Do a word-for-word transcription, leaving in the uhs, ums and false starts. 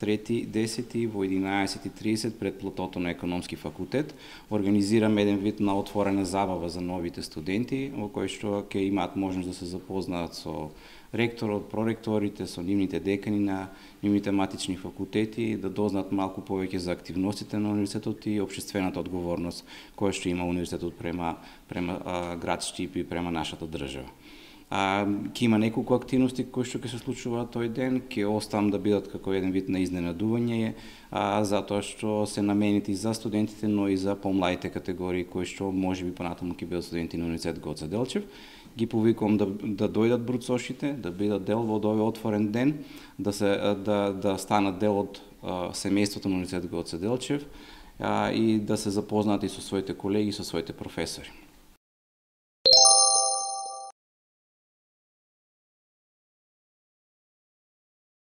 трети десети во единаесет и тридесет пред плотото на Економски факултет организираме еден вид на отворена забава за новите студенти, во кој што ќе имаат можност да се запознаат со ректорот, проректорите, со нивните декани на нивните матични факултети, да дознаат малку повеќе за активностите на универзитетот и општествената одговорност која што има универзитетот према према а, град Штип и према нашата држава. А, ќе има неколку активности кои што ќе се случуваат тој ден, ќе оставам да бидат како еден вид на изненадување, а, затоа што се наменети за студентите, но и за помладите категории кои што можеби понатаму ќе бидат студенти на Универзитет Гоце Делчев. Ги повикувам да, да дојдат бруцошите, да бидат дел во овој отворен ден, да се да да станат дел од а, семејството на Универзитет Гоце Делчев а, и да се запознаат и со своите колеги и со своите професори.